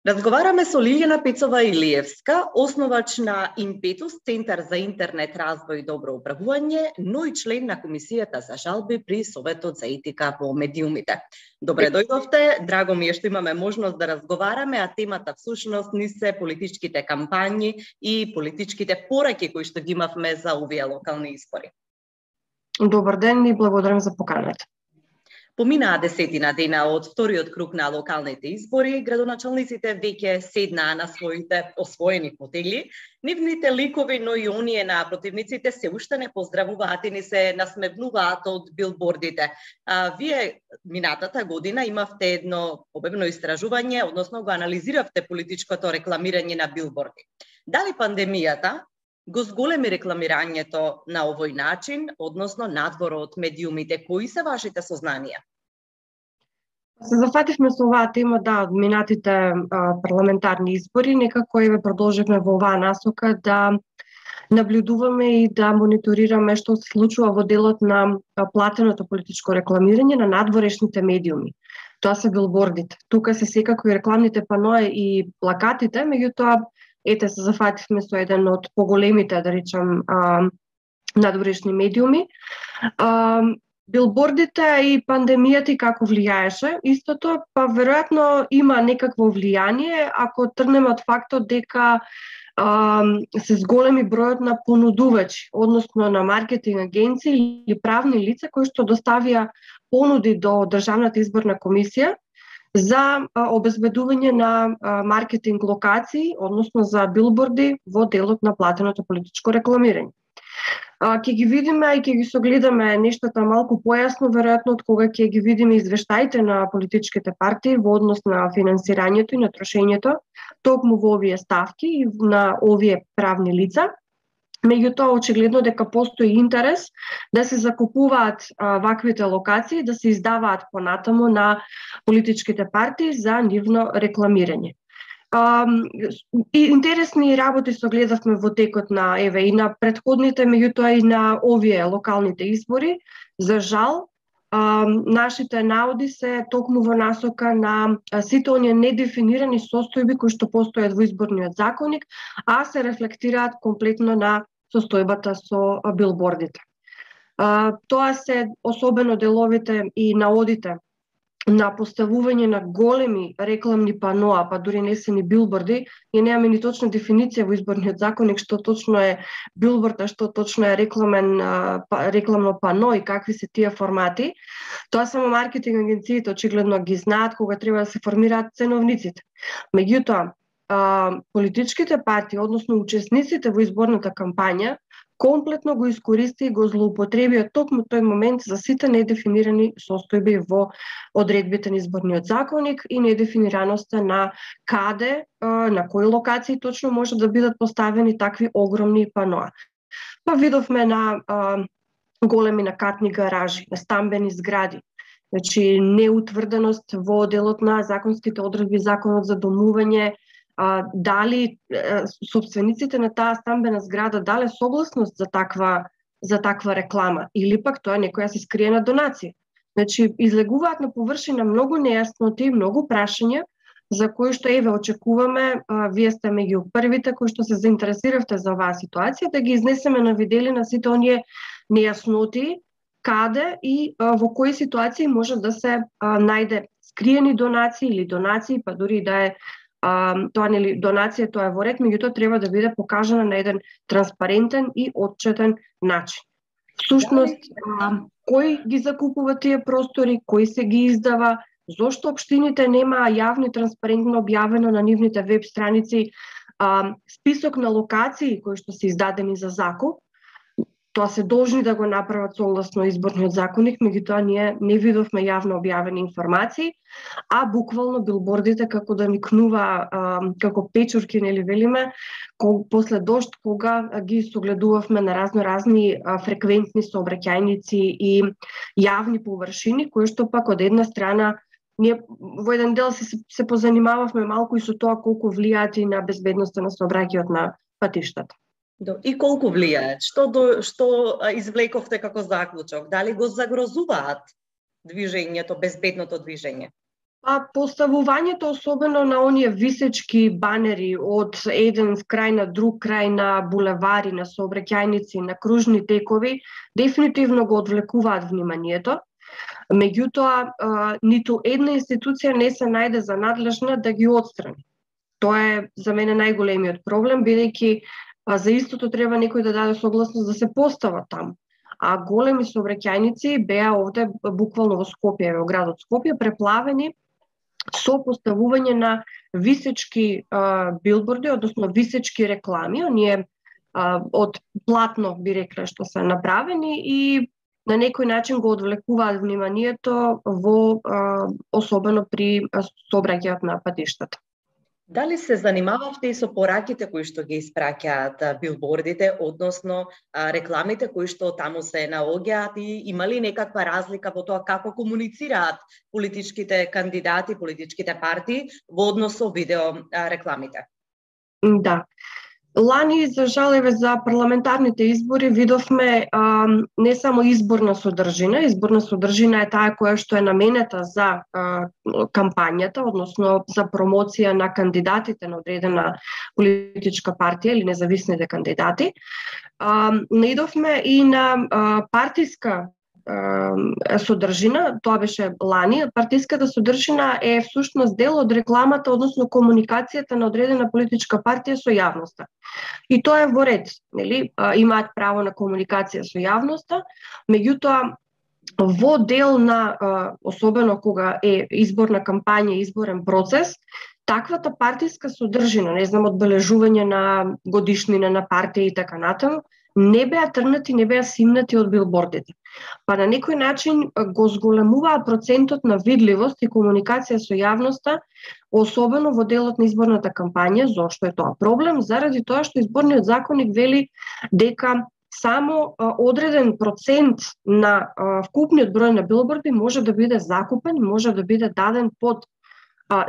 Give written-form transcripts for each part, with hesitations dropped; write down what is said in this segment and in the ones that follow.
Разговараме со Лилјана Пецова-Илиевска, основач на Импетус, Центар за интернет развој и добро управување, но и член на Комисијата за жалби при Советот за етика во медиумите. Добре дојдовте, драго ми е што имаме можност да разговараме, а темата всушност ни се политичките кампањи и политичките пораки кои што ги имавме за овие локални избори. Добар ден и благодарам за поканата. Поминаа 10 дена од вториот круг на локалните избори, градоначалниците веќе седнаа на своите освоени фотели. Нивните ликови, но и оние на противниците се уште не поздравуваат и ни се насмевнуваат од билбордите. Вие минатата година имавте едно обемно истражување, односно го анализиравте политичкото рекламирање на билборди. Дали пандемијата го зголеми рекламирањето на овој начин, односно надвор од медиумите? Кои се вашите сознанија? Се зафативме со оваа тема од минатите парламентарни избори, некако еве продолживме во оваа насока да наблюдуваме и да мониторираме што се случува во делот на платеното политичко рекламирање на надворешните медиуми. Тоа се билбордите. Тука се секако и рекламните панои и плакатите, меѓутоа ете се зафативме со еден од поголемите, да речам, надворешни медиуми. Билбордите и пандемијата и како влијаеше, истото, па веројатно има некакво влијание ако тргнеме од фактот дека се зголеми бројот на понудувачи, односно на маркетинг агенции или правни лица кои што доставија понуди до Државната изборна комисија за обезбедување на маркетинг локации, односно за билборди во делот на платеното политичко рекламирање. Ќе ги видиме и ќе ги согледаме нештата малку појасно, веројатно од кога ќе ги видиме извештаите на политичките партии во однос на финансирањето и на трошењето, токму во овие ставки и на овие правни лица. Меѓутоа, очигледно дека постои интерес да се закупуваат ваквите локации, да се издаваат понатаму на политичките партии за нивно рекламирање. Интересни работи согледавме во текот на и на претходните, меѓутоа и на овие локалните избори. За жал, нашите наоди се токму во насока на сите оние недефинирани состојби кои што постојат во изборниот законник, а се рефлектираат комплетно на состојбата со билбордите. Тоа се особено деловите и наодите на поставување на големи рекламни паноа, па дури не се ни билборди, и немаме ни точна дефиниција во изборниот законник што точно е билборд, а што точно е рекламно пано и какви се тие формати. Тоа само маркетинг агенциите очигледно ги знаат кога треба да се формираат ценовниците. Меѓутоа, политичките партии, односно учесниците во изборната кампања, комплетно го искористи и го злоупотребија токму тој момент за сите недефинирани состојби во одредбите на изборниот законник и недефинираноста на каде, на кои локации точно може да бидат поставени такви огромни паноа. Па видовме на големи накатни гаражи, на стамбени згради, значи неутврденост во делот на законските одредби, законот за домување, дали собствениците на таа стамбена зграда дале согласност за таква реклама или пак тоа некоја се скриена донација. Значи излегуваат на површина многу нејасноти, многу прашања за кои што очекуваме, вие сте меѓу првите кои што се заинтересиравте за оваа ситуација, да ги изнесеме на виделина сите оние нејасноти, каде и во кои ситуации може да се најде скриени донации или донации, па дури да е тоа нели донација, тоа е во ред, меѓутоа треба да биде покажана на еден транспарентен и отчетен начин. Всушност, кој ги закупува тие простори, кој се ги издава, зошто општините немаа јавно и транспарентно објавено на нивните веб страници список на локации кои што се издадени за закуп. Тоа се должни да го направат согласно изборниот законник, меѓутоа ние не видовме јавно објавени информации, а буквално билбордите како да никнува како печурки, нели велиме, после дожд, кога ги согледувавме на разни фреквентни сообраќајници и јавни површини, кои што пак од една страна ние во еден дел се позанимававме малку и со тоа колку влијаат и на безбедноста на сообраќајот на патиштата. И колку влијаат? Што извлековте како заклучок? Дали го загрозуваат движењето, безбедното движење? Поставувањето особено на оние висечки банери од еден крај на друг крај на булевари, на сообраќајници, на кружни текови, дефинитивно го одвлекуваат вниманието. Меѓутоа, ниту една институција не се најде за надлежна да ги отстрани. Тоа е за мене најголемиот проблем, бидејќи за истото треба некој да даде согласност да се постава таму. А големи сообраќајници беа овде буквално во Скопје, во градот Скопје, преплавени со поставување на висечки билборди, односно висечки реклами, оние од платно би рекле што се направени и на некој начин го одвлекуваат вниманието во особено при сообраќајот на патиштата. Дали се занимававте и со пораките кои што ги испраќаат билбордите, односно рекламите кои што таму се наоѓаат, и има ли некаква разлика во тоа како комуницираат политичките кандидати, политичките партии во однос со видео рекламите? Да. Лани, за жал, за парламентарните избори видовме не само изборна содржина е таа која што е наменета за кампањата, односно за промоција на кандидатите на одредена политичка партија или независните кандидати. Наидовме и на партиска содржина, тоа беше лани. Партиската содржина е всушност дел од рекламата, односно комуникацијата на одредена политичка партија со јавноста. И тоа е во ред, нели? Имаат право на комуникација со јавноста, меѓутоа во дел на, особено кога е изборна кампања, изборен процес, таквата партиска содржина, не знам, одбележување на годишнина на партија и така натаму, не беа тргнати, не беа симнати од билбордите. Па на некој начин го зголемуваа процентот на видливост и комуникација со јавноста, особено во делот на изборната кампања. Зошто е тоа проблем? Заради тоа што изборниот законник вели дека само одреден процент на вкупниот број на билборди може да биде закупен, може да биде даден под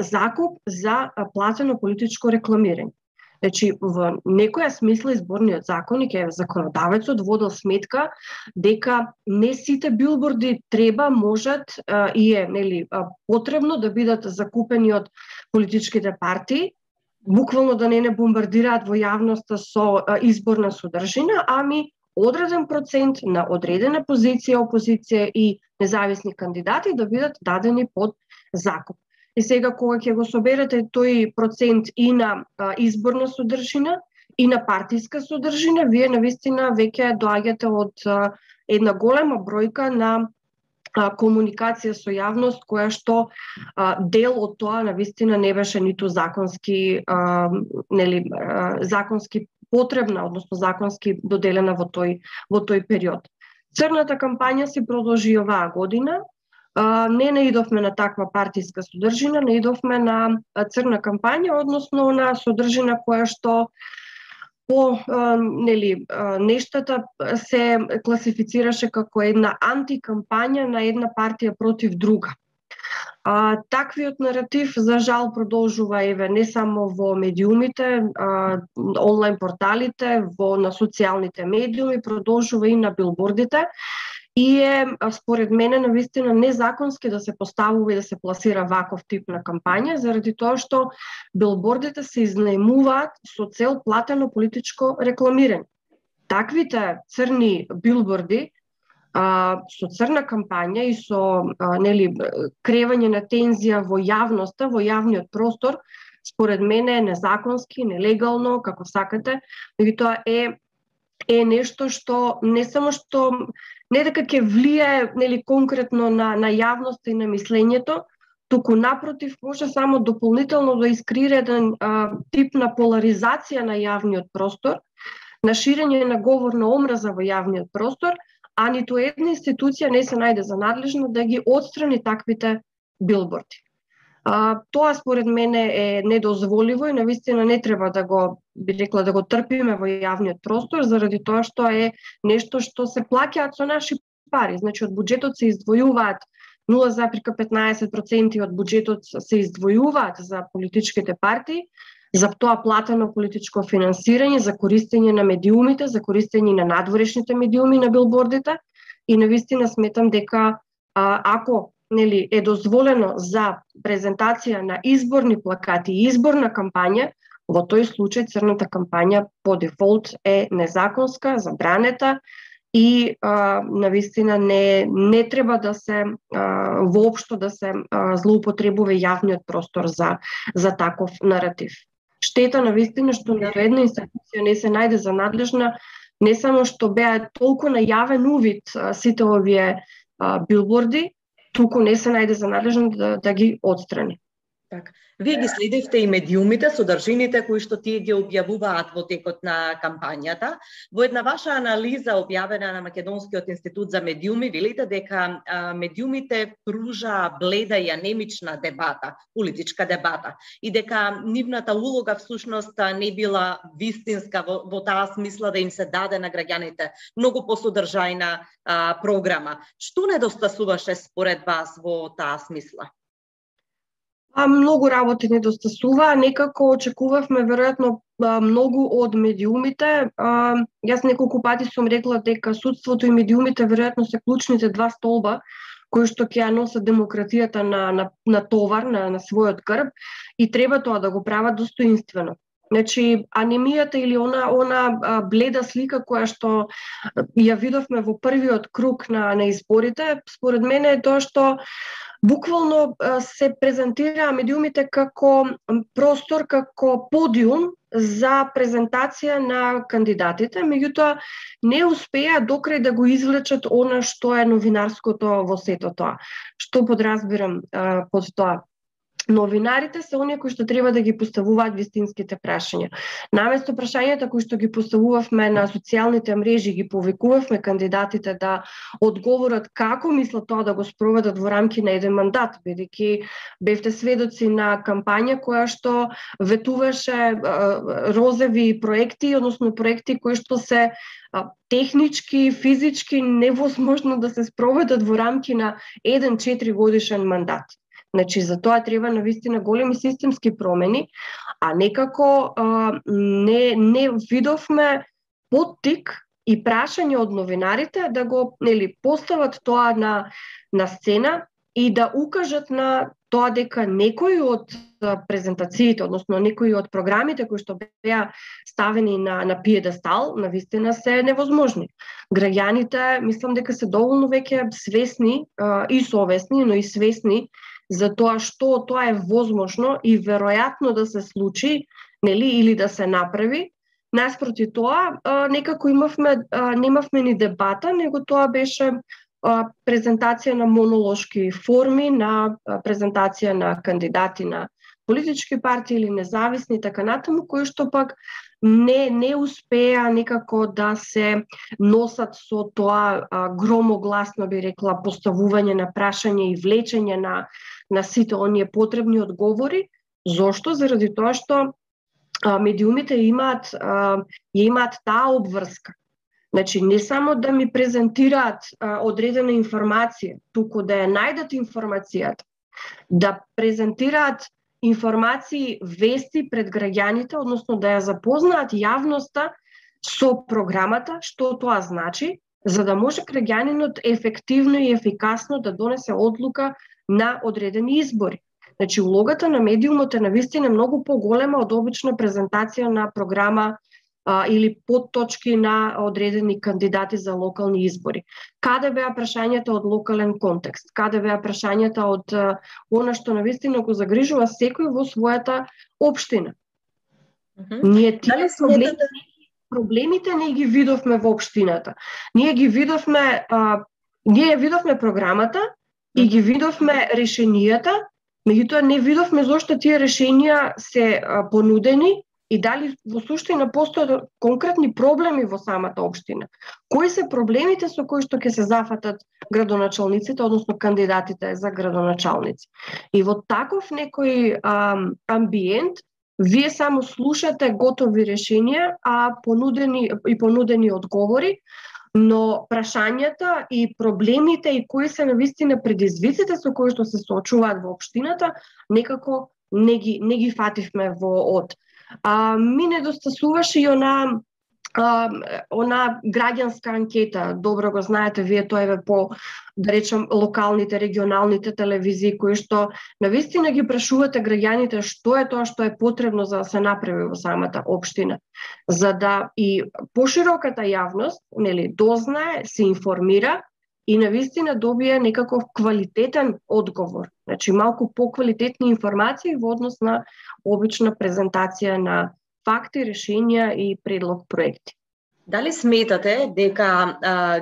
закуп за платено политичко рекламирање. Значи, во некоја смисла изборниот законник, законодавецот водел сметка дека не сите билборди треба, можат и е потребно да бидат закупени од политичките партии, буквално да не бомбардираат во јавноста со изборна содржина, ами одреден процент на одредена позиција, опозиција и независни кандидати да бидат дадени под закуп. И сега кога ќе го соберете тој процент и на изборна содржина и на партиска содржина, вие навистина веќе доаѓате од една голема бројка на комуникација со јавност, која што дел од тоа навистина не беше ниту законски законски потребна, односно законски доделена во тој период. Црната кампања се продолжи оваа година. Не наидовме на таква партиска содржина, наидовме на црна кампања, односно на содржина која што по нештата се класифицираше како една антикампања на една партија против друга. Таквиот наратив, за жал, продолжува не само во медиумите, онлайн порталите, на социјалните медиуми, продолжува и на билбордите. И е, според мене, навистина незаконски да се поставува и да се пласира ваков тип на кампања, заради тоа што билбордите се изнаемуваат со цел платено политичко рекламирање. Таквите црни билборди со црна кампања и со кревање на тензија во јавноста, во јавниот простор, според мене е незаконски, нелегално, како сакате, меѓутоа е нешто што не само што не дека ќе влијае конкретно на јавноста и на мислењето, туку напротив може само дополнително да искрира еден тип на поларизација на јавниот простор, на ширење на говор на омраза во јавниот простор, а ниту една институција не се најде за надлежна да ги отстрани таквите билборди. Тоа според мене е недозволиво и навистина не треба да го, би рекла, да го трпиме во јавниот простор, заради тоа што е нешто што се плаќаат со наши пари. Значи, од буџетот се издвојуваат 0,15% од буџетот се издвојуваат за политичките партии, за тоа платено политичко финансирање, за користење на медиумите, за користење на надворешните медиуми на билбордите, и навистина сметам дека ако нели е дозволено за презентација на изборни плакати и изборна кампања, во тој случај црната кампања по дефолт е незаконска, забранета и навистина не треба да се воопшто да се злоупотребува јавниот простор за таков наратив. Штета навистина што нито една институција не се најде за надлежна, не само што беа толку на јавен увид сите овие билборди, туку не се најде за надлежна да ги отстрани. Така. Вие ги следевте и медиумите, содржините кои што тие ги објавуваат во текот на кампањата. Во една ваша анализа објавена на Македонскиот институт за медиуми, велите дека медиумите пружа бледа и анемична дебата, политичка дебата, и дека нивната улога всушност не била вистинска во таа смисла да им се даде на граѓаните многу посодржајна програма. Што недостасуваше според вас во таа смисла? Многу работи недостасува, некако очекувавме веројатно многу од медиумите. Јас неколку пати сум рекла дека судството и медиумите веројатно се клучните два столба кои што ќе ја носат демократијата на товар, на својот грб, и треба тоа да го прават достоинствено. Значи, анемијата или она бледа слика која што ја видовме во првиот круг на изборите, според мене е тоа што буквално се презентираа медиумите како простор, како подиум за презентација на кандидатите, меѓутоа не успеа докрај да го извлечат она што е новинарското во сето тоа. Што подразбирам под тоа? Новинарите се оние кои што треба да ги поставуваат вистинските прашања. Наместо прашањата кои што ги поставувавме на социјалните мрежи, ги повикувавме кандидатите да одговорат како мислат тоа да го спроведат во рамки на еден мандат, бидејќи бевте сведоци на кампања која што ветуваше розови проекти, односно проекти кои што се технички, физички невозможно да се спроведат во рамки на еден 4 годишен мандат. Значи, за тоа треба навистина големи системски промени, а некако не видовме поттик и прашање од новинарите да го постават тоа на сцена и да укажат на тоа дека некои од презентациите, односно некои од програмите кои што беа ставени на пиедестал, навистина се невозможни. Граѓаните, мислам дека се доволно веќе свесни и совесни, но и свесни за тоа што тоа е возможно и веројатно да се случи, или да се направи. Наспроти тоа, некако немавме ни дебата, него тоа беше презентација на монолошки форми, на презентација на кандидати на политички партии или независни, така натаму, кои што пак не успеа некако да се носат со тоа громогласно, би рекла, поставување на прашање и влечење на сите оние потребни одговори. Зошто? Заради тоа што медиумите имаат таа обврска. Значи, не само да ми презентираат одредена информација, туку да ја најдат информацијата, да презентираат информации, вести пред граѓаните, односно да ја запознаат јавноста со програмата, што тоа значи, за да може граѓанинот ефективно и ефикасно да донесе одлука на одредени избори. Значи, улогата на медиумот е навистина многу поголема од обична презентација на програма или подточки на одредени кандидати за локални избори. Каде беа прашањата од локален контекст? Каде беа прашањата од она што навистина го загрижува секој во својата општина? Ние тие проблемите не ги видовме во општината. Ние видовме програмата и ги видовме решенијата, меѓутоа не видовме зошто тие решенија се понудени и дали во суштина постојат конкретни проблеми во самата општина. Кои се проблемите со кои што ќе се зафатат градоначалниците, односно кандидатите за градоначалници. И во таков некој амбиент, вие само слушате готови решенија, понудени одговори, но прашањата и проблемите и кои се навистина предизвиците со кои што се соочуваат во општината, некако не ги фативме во од. Ми недостасуваше и она она граѓанска анкета, добро го знаете вие, тоа е по, да речем, локалните, регионалните телевизии, кои што навистина ги прашувате граѓаните што е тоа што е потребно за да се направи во самата општина, за да и пошироката јавност, нели, дознае, се информира и навистина добие некаков квалитетен одговор. Значи, малку поквалитетни информации во однос на обична презентација на факти, решенија и предлог проекти. Дали сметате дека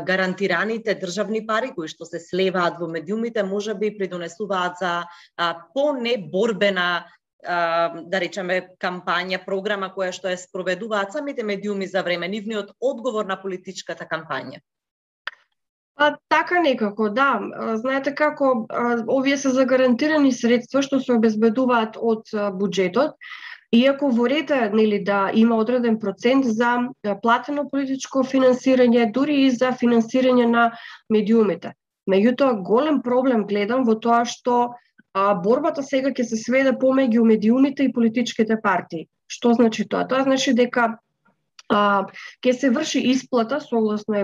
гарантираните државни пари кои што се слеваат во медиумите можеби придонесуваат за по-неборбена да речеме кампања, програма која што ја спроведуваат самите медиуми за време нивниот одговор на политичката кампања? Така некако, да. Знаете како, овие се загарантирани средства што се обезбедуваат од буџетот, иако во ред, нели, да има одреден процент за платено политичко финансирање, дури и за финансирање на медиумите. Меѓутоа, голем проблем гледам во тоа што борбата сега ќе се сведе помеѓу медиумите и политичките партии. Што значи тоа? Тоа значи дека ќе се врши исплата, согласно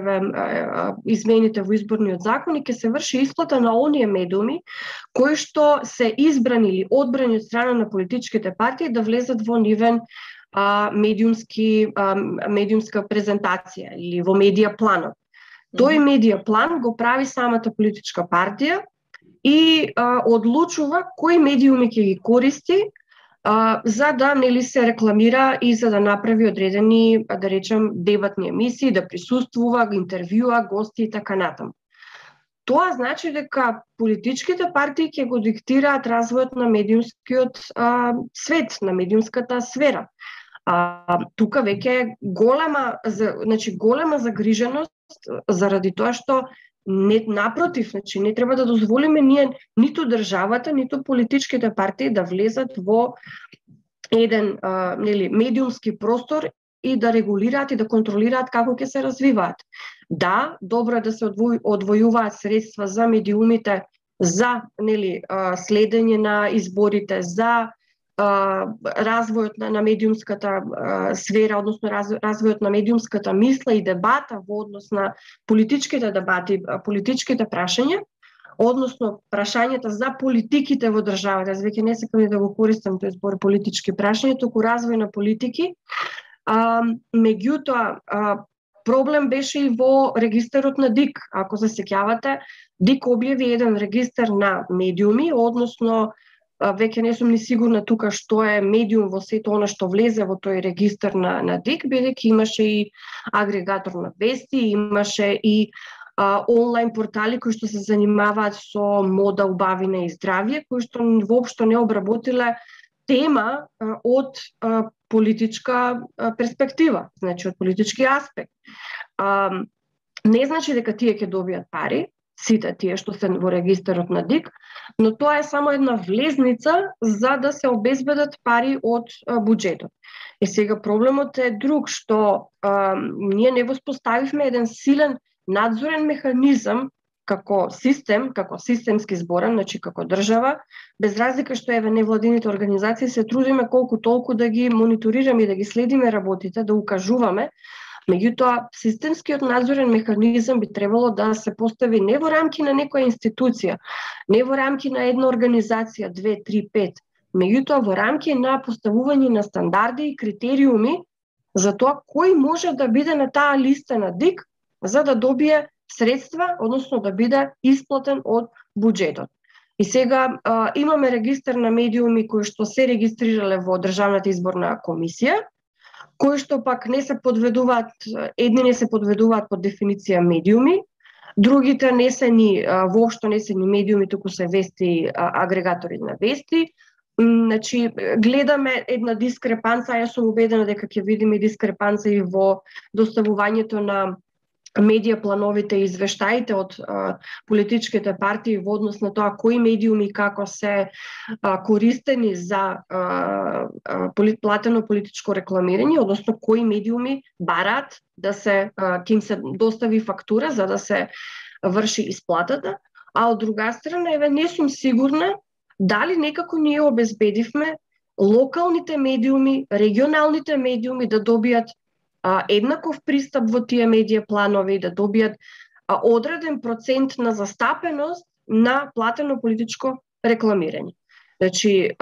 измените во изборниот закон, и ќе се врши исплата на оние медиуми кои што се избрани или одбрани од страна на политичките партии да влезат во нивен медиумска презентација или во медија планот. Тој медија план го прави самата политичка партија и одлучува кои медиуми ќе ги користи за да, нели, се рекламира и за да направи одредени, да речем, дебатни емисии, да присуствува, интервјуа, гости и така натаму. Тоа значи дека политичките партии ќе го диктираат развојот на медиумскиот свет, на медиумската сфера. Тука веќе голема загриженост заради тоа што напротив, значи не треба да дозволиме ние ниту државата, ниту политичките партии да влезат во еден медиумски простор и да регулираат и да контролираат како ќе се развиваат. Да, добро е да се одвојуваат средства за медиумите, за следење на изборите, за развојот на медиумската сфера, односно развојот на медиумската мисла и дебата во однос на политичките дебати, политичките прашања, односно прашањата за политиките во државата. Аз веќе не сакам да го користам тој збор политички прашања, туку развој на политики. Меѓутоа, проблем беше и во регистарот на ДИК. Ако се сеќавате, ДИК објави еден регистар на медиуми, односно веќе не сум ни сигурна тука што е медиум во сето она што влезе во тој регистар на ДИК, бидејќи имаше и агрегатор на вести, имаше и онлайн портали кои што се занимаваат со мода, убавина и здравје, кои што воопшто не обработиле тема од политичка перспектива, значи од политички аспект. Не значи дека тие ќе добијат пари, сите тие што се во регистарот на ДИК, но тоа е само една влезница за да се обезбедат пари од буџетот. И сега проблемот е друг, што ние не воспоставивме еден силен надзорен механизам како систем, како системски зборам, значи како држава, без разлика што невладините организации се трудиме колку толку да ги мониторираме и да ги следиме работите, да укажуваме. Меѓутоа, системскиот надзорен механизам би требало да се постави не во рамки на некоја институција, не во рамки на една организација, 2, 3, 5, меѓутоа во рамки на поставување на стандарди и критериуми за тоа кој може да биде на таа листа на ДИК за да добие средства, односно да биде исплатен од буџетот. И сега имаме регистар на медиуми кои што се регистрирале во Државната изборна комисија, кои што пак не се подведуваат, едни не се подведуваат под дефиниција медиуми, другите не се ни воопшто не се ни медиуми, туку се вести агрегатори на вести. Значи гледаме една дискрепанца, јас сум убедена дека ќе видиме дискрепанца и во доставувањето на медија плановите и извештаите од политичките партии во однос на тоа кои медиуми како се користени за платено политичко рекламирање, односно кои медиуми бараат да се ќе им се достави фактура за да се врши исплатата, а од друга страна не сум сигурна дали некако ние обезбедивме локалните медиуми, регионалните медиуми да добијат еднаков пристап во тие медија планови и да добијат одреден процент на застапеност на платено политичко рекламирање. Значи,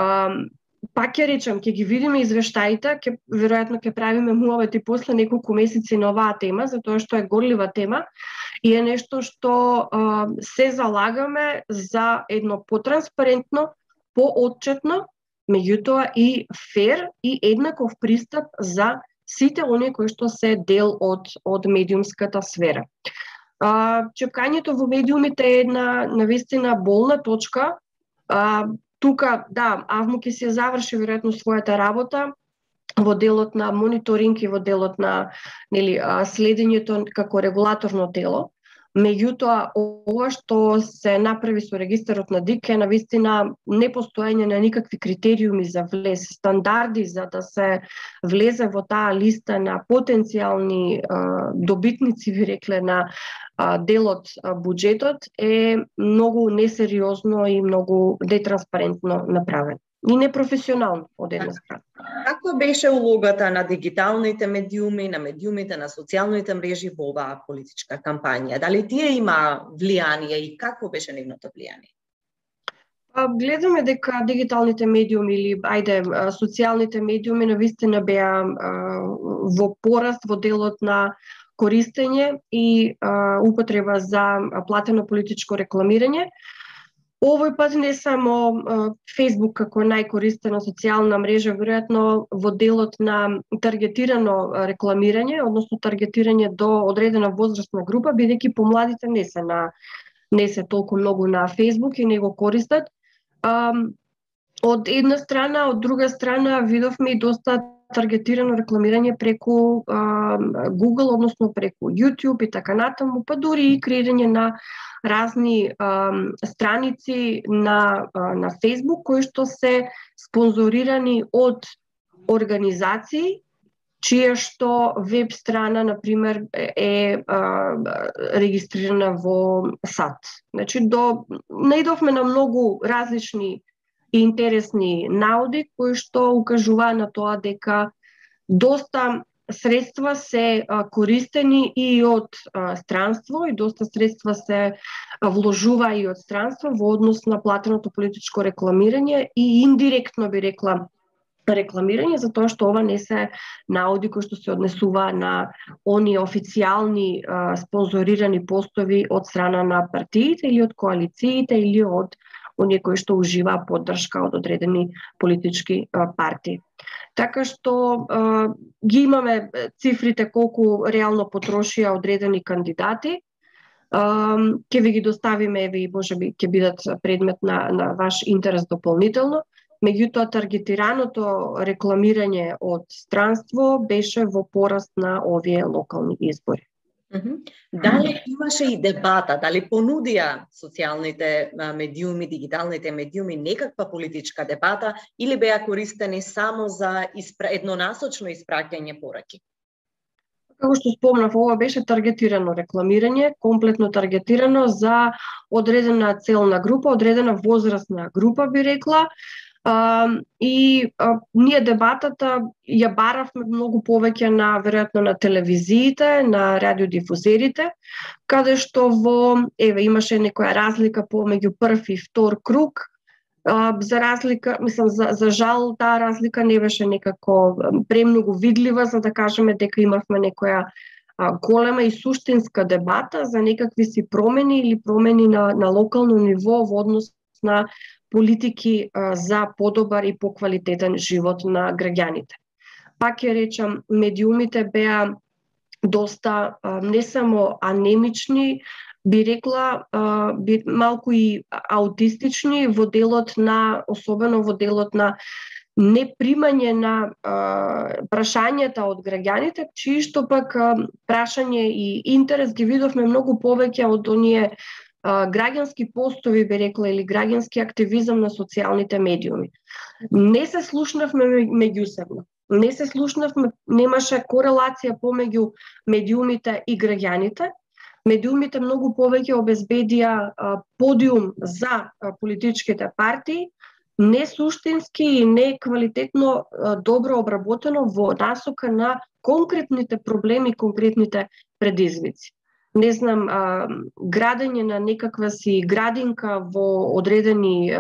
пак ќе речам, ќе ги видиме извештаите, веројатно ќе правиме муавет и после неколку месеци на оваа тема, затоа што е горлива тема и е нешто што се залагаме за едно потранспарентно, поотчетно, меѓутоа и фер и еднаков пристап за сите оние кои што се дел од медиумската сфера. Чепкањето во медиумите е една навистина болна точка. Тука, да, АВМУ ќе се заврши веројатно својата работа во делот на мониторинг и во делот на следењето како регулаторно тело. Меѓутоа, ова што се направи со регистарот на ДИК е навистина непостоење на никакви критериуми за влез, стандарди за да се влезе во таа листа на потенцијални добитници, ви рекле, на делот буџетот е многу несериозно и многу нетранспарентно направено. И непрофесионално од една страна. Како беше улогата на дигиталните медиуми, на медиумите на социјалните мрежи во оваа политичка кампања? Дали тие има влијание и какво беше нивното влијание? Гледаме дека дигиталните медиуми или социјалните медиуми навистина беа во пораст во делот на користење и употреба за платено политичко рекламирање. Овој пат не само Facebook како најкористена социјална мрежа, веројатно во делот на таргетирано рекламирање, односно таргетирање до одредена возрастна група, бидејќи помладите не се толку многу на Facebook и не го користат. Од една страна, од друга страна видовме и доста таргетирано рекламирање преку Google, односно преку YouTube и така натаму, па дури и креирање на разни страници на Facebook кои што се спонзорирани од организации чија што веб страна, например, е регистрирана во САД. Значи, наидовме на многу различни и интересни наоди кои што укажуваа на тоа дека доста средства се користени и од странство и доста средства се вложува и од странство во однос на платеното политичко рекламирање и индиректно би рекла рекламирање, затоа што ова не се наоди кои што се однесува на оние официјални спонзорирани постови од страна на партиите или од коалициите или од оние кои што уживаа поддршка од одредени политички партии. Така што ги имаме цифрите колку реално потрошија одредени кандидати. Ќе ви ги доставиме, и можеби ќе бидат предмет на ваш интерес дополнително. Меѓутоа, таргетираното рекламирање од странство беше во пораст на овие локални избори. Дали имаше и дебата, дали понудија социјалните медиуми, дигиталните медиуми некаква политичка дебата или беа користени само за еднонасочно испраќање пораки? Како што спомнав, ова беше таргетирано рекламирање, комплетно таргетирано за одредена целна група, одредена возрастна група, би рекла. Ние дебатата ја баравме многу повеќе веројатно на телевизиите, на радиодифузерите, каде што имаше некоја разлика помеѓу прв и втор круг. За разлика, за жал, таа разлика не беше некако премногу видлива, за да кажеме дека имавме некоја голема и суштинска дебата за некакви си промени или промени на локално ниво во однос на политики за подобар и поквалитетен живот на граѓаните. Пак ќе речам, медиумите беа доста не само анемични, би рекла малку и аутистични во делот на, особено во делот на непримање на прашањата од граѓаните, чии што пак прашање и интерес ги видовме многу повеќе од оние граѓански постови, би рекла, или граѓански активизам на социјалните медиуми. Не се слушнавме меѓусебно. Не се слушнавме, немаше корелација помеѓу медиумите и граѓаните. Медиумите многу повеќе обезбедија подиум за политичките партии, не суштински и не квалитетно добро обработено во насока на конкретните проблеми, конкретните предизвици. Не знам, градење на некаква си градинка во одредени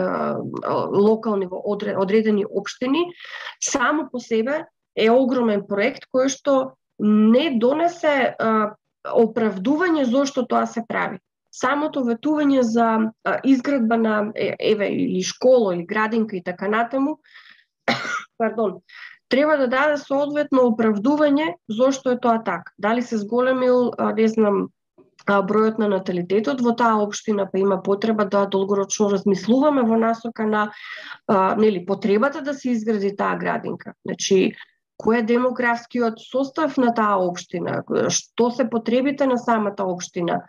локални, во одредени општини, само по себе е огромен проект кој што не донесе оправдување зошто тоа се прави. Самото ветување за изградба на или школа или градинка и така натаму, треба да даде соодветно оправдување зошто е тоа така. Дали се зголемил, не знам, бројот на наталитетот во таа општина, па има потреба да долгорочно размислуваме во насока на потребата да се изгради таа градинка. Значи, кој е демографскиот состав на таа општина, што се потребите на самата општина,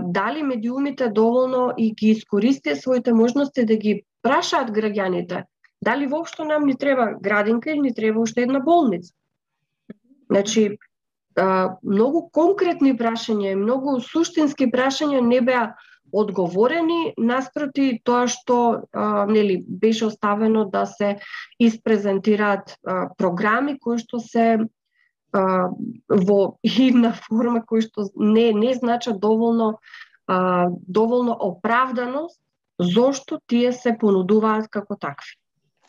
дали медиумите доволно и ги искористија своите можности да ги прашаат граѓаните, дали воопшто нам ни треба градинка или ни треба уште една болница. Значи, многу конкретни прашања, многу суштински прашања не беа одговорени наспроти тоа што беше оставено да се испрезентираат програми кои што се во една форма кои што не значат доволно оправданост зошто тие се понудуваат како такви.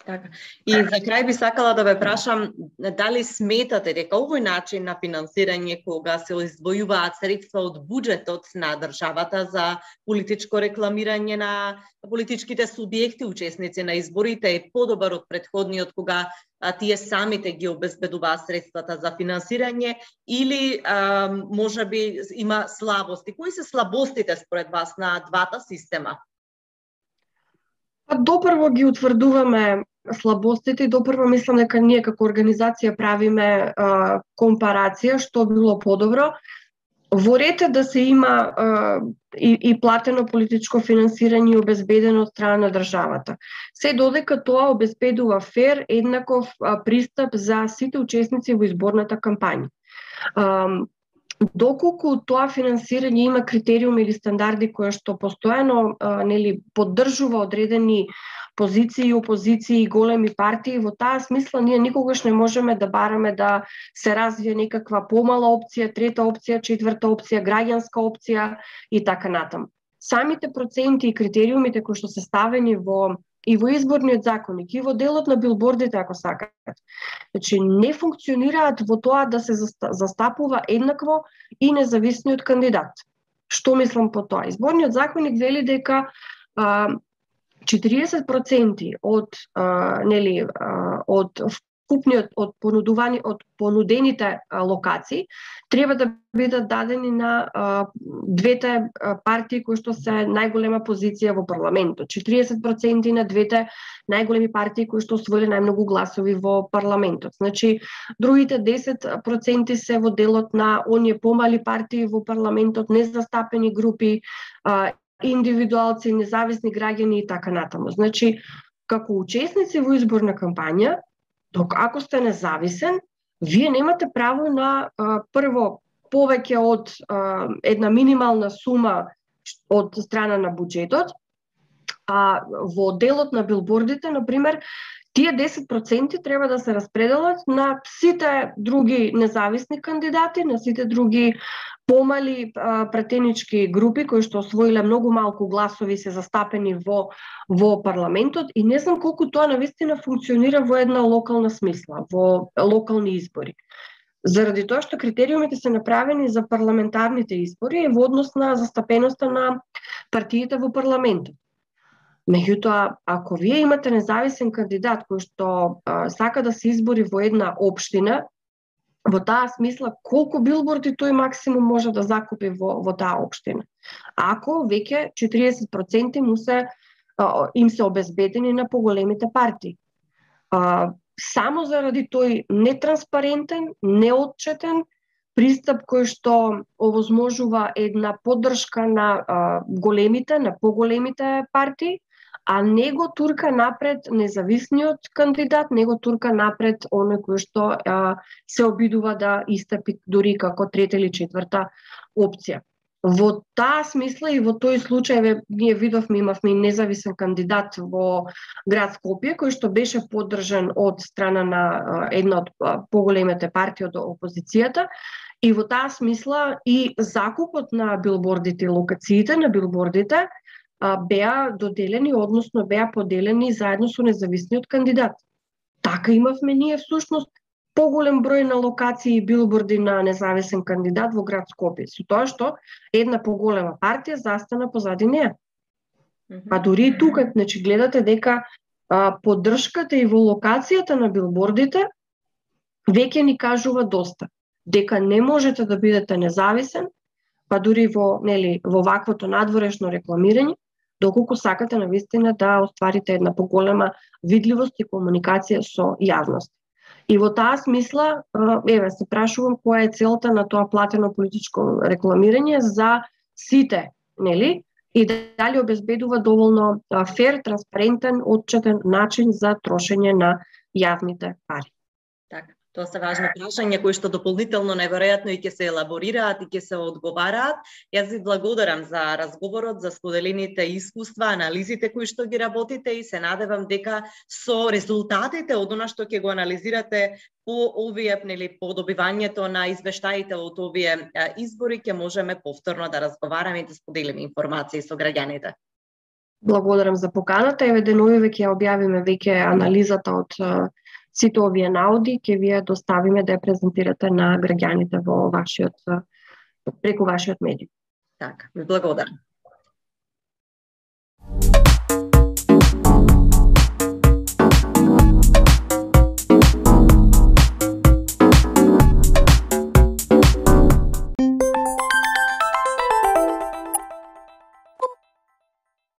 Така. И за крај би сакала да ве прашам дали сметате дека овој начин на финансирање кога се издвојуваат средства од буџетот на државата за политичко рекламирање на политичките субјекти учесници на изборите е подобар од претходниот кога тие самите ги обезбедуваат средствата за финансирање или можеби има слабости? Кои се слабостите според вас на двата система? Допрво ги утврдуваме слабостите и допрво мислам дека ние како организација правиме компарација што било подобро. Во ред е да се има и платено политичко финансирање и обезбедено од страна на државата. Се додека тоа обезбедува фер, еднаков пристап за сите учесници во изборната кампања. Доколку тоа финансирање има критериуми или стандарди кои што постојано поддржува одредени позиции, опозиции и големи партии, во таа смисла ние никогаш не можеме да бараме да се развие некаква помала опција, трета опција, четврта опција, граѓанска опција и така натаму. Самите проценти и критериумите кои што се ставени и во изборниот законник, и во делот на билбордите, ако сакате. Значи, не функционираат во тоа да се застапува еднакво и независниот кандидат. Што мислам по тоа? Изборниот законник вели дека 40% од вкупниот од понудените локации треба да бидат дадени на двете партии кои што се најголема позиција во парламентот. 40% на двете најголеми партии кои што освоиле најмногу гласови во парламентот. Значи, другите 10% се во делот на оние помали партии во парламентот, незастапени групи, индивидуалци, независни граѓани и така натаму. Значи, како учесници во изборна кампања, ако сте независен, вие немате право на прво повеќе од една минимална сума од страна на буџетот, а во делот на билбордите, например, тие 10% треба да се распределат на сите други независни кандидати, на сите други помали пратенички групи кои што освоиле многу малку гласови се застапени во парламентот и не знам колку тоа навистина функционира во една локална смисла, во локални избори. Заради тоа што критериумите се направени за парламентарните избори и во однос на застапеноста на партиите во парламентот. Меѓутоа, ако вие имате независен кандидат кој што сака да се избори во една општина, во таа смисла колку билборди тој максимум може да закупи во таа општина. Ако веќе 40% им се обезбедени на поголемите партии. Само заради тој нетранспарентен, неотчетен пристап кој што овозможува една поддршка на големите, на поголемите партии, а не го турка напред независниот кандидат, не го турка напред оној кој што се обидува да истапи дури како трета или четврта опција. Во таа смисла и во тој случај ние видовме, имавме независен кандидат во град Скопје кој што беше поддржан од страна на една од поголемите партии од опозицијата, и во таа смисла и закупот на билбордите, локациите на билбордите беа доделени, односно беа поделени заедно со независниот кандидат. Така имавме ние всушност поголем број на локации и билборди на независен кандидат во град Скопје, со тоа што една поголема партија застана позади неа. Па дури и тука, значи гледате дека поддршката и во локацијата на билбордите веќе ни кажува доста, дека не можете да бидете независен, па дури во ваквото надворешно рекламирање, доколку сакате навистина да остварите една поголема видливост и комуникација со јавност. И во таа смисла, се прашувам која е целта на тоа платено политичко рекламирање за сите, нели? И дали обезбедува доволно фер, транспарентен, отчетен начин за трошење на јавните пари. Така. Тоа се важни прашања кои што дополнително неверојатно и ќе се елаборираат и ќе се одговараат. Јас ви благодарам за разговорот, за споделените искуства, анализите кои што ги работите и се надевам дека со резултатите од она што ќе го анализирате по овие, по добивањето на извештаите од овие избори, ќе можеме повторно да разговараме и да споделиме информации со граѓаните. Благодарам за поканата. Еве деновиве ќе објавиме веќе анализата од сите овие науди, ќе ви ја доставиме да ја презентирате на граѓаните во преку вашиот медиум. Така, ви благодарам.